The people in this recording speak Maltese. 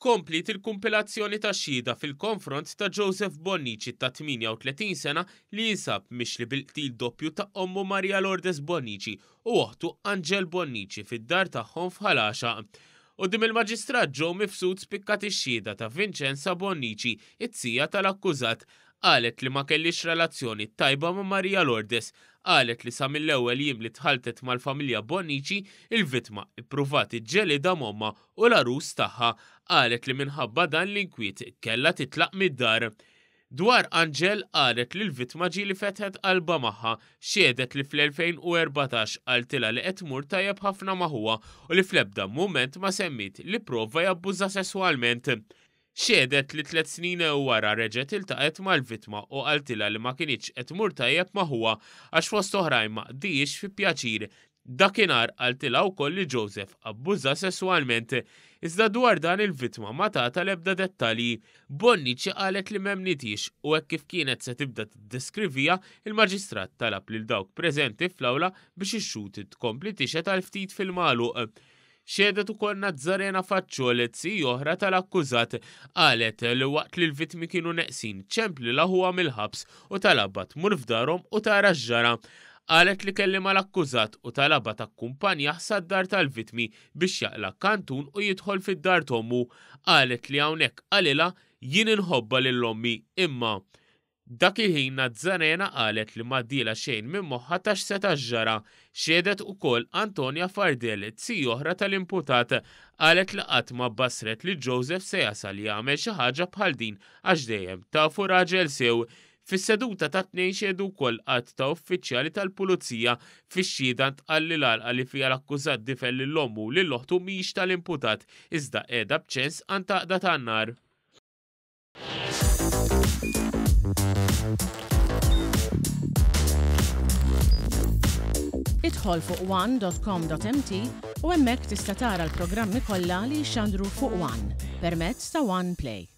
Kompliet il-kumpilazzjoni ta' xhieda fil-konfront ta' Joseph Bonnici ta' 38 sena li jinsab mixli bil-qtil doppju ta' ommu Maria Lourdes Bonnici u oħtu Angel Bonnici fid-dar tagħhom f'Ħal Għaxaq. Quddiem il-Maġistrat Joe Mifsud spikkat ix-xhieda ta' Vincenza Bonnici, it-zija tal-akkużat. Qalet li ma kellhiex relazzjoni tajba ma' Maria Lourdes. Qalet li sa mill-ewwel jiem li tħalltet mal-familja Bonnici, il-vittma ippruvat iġġelidha m'ommha u l-għarus tagħha. Qalet li minħabba dan l-inkwiet kellha titlaq mid-dar. Dwar Angel qalet li l-vittma ġieli fetħet qalbha magħha. Xehdet li fl-2014 qaltilha li qed tmur tajjeb ħafna ma' ħuha u li fl-ebda mument ma semmiet li pprova jabbużha sesswalment. Xehdet li tlett snin wara reġgħet iltaqgħet mal-vittma u qaltilha li ma kinitx qed tmur tajjeb ma' ħuha għax fost oħrajn ma qdihiex fi pjaċir. Dakinhar qaltilha wkoll li Joseph abbużha sesswalment. Iżda dwar dan il-vittma ma tatha l-ebda dettalji. Bonnici qalet li m'emmnithiex u hekk kif kienet se tibda tiddeskriviha, il-Maġistrat talab lil dawk preżenti fl-awla biex ix-xhud tkompli tixhed għal ftit fil-magħluq. Xehdet ukoll Nazzarena Facciol, zij oħra tal-akkużat. Qalet li waqt li l-vittmi kienu neqsin, ċemplilha ħuha mill-ħabs u talabha tmur f'darhom u tara x'ġara. Qalet li kellimha l-akkużat u talabha takkumpanjah sad-dar tal-vittmi biex jaqla' kantun u jidħol fid-dar t'ommu. Qalet li hawnhekk qalilha, Jien inħobbha lil ommi, imma. Dak il-ħin Nazzarena qalet li m'għaddielha xejn minn moħħha ta' x'seta' ġara. Xehdet ukoll Antonia Fardel, zija oħra tal-imputat. Qalet li qatt ma bassret li Joseph se jasal jagħmel xi ħaġa bħal din għax dejjem tafu raġel sew. Fis-seduta tat-Tnejn xehdu wkoll għadd ta' uffiċjali tal-Pulizija. Fix-xhieda ntqal li l-għalqa li fiha l-akkużat difen lil ommu u lil oħtu mhix tal-imputat iżda qiegħda b'ċens għand għaqda tan-nar. Idħol fuq one.com.mt u hemmhekk tista' tara l-programmi kollha li jixxandru fuq One permezz ta' One Play.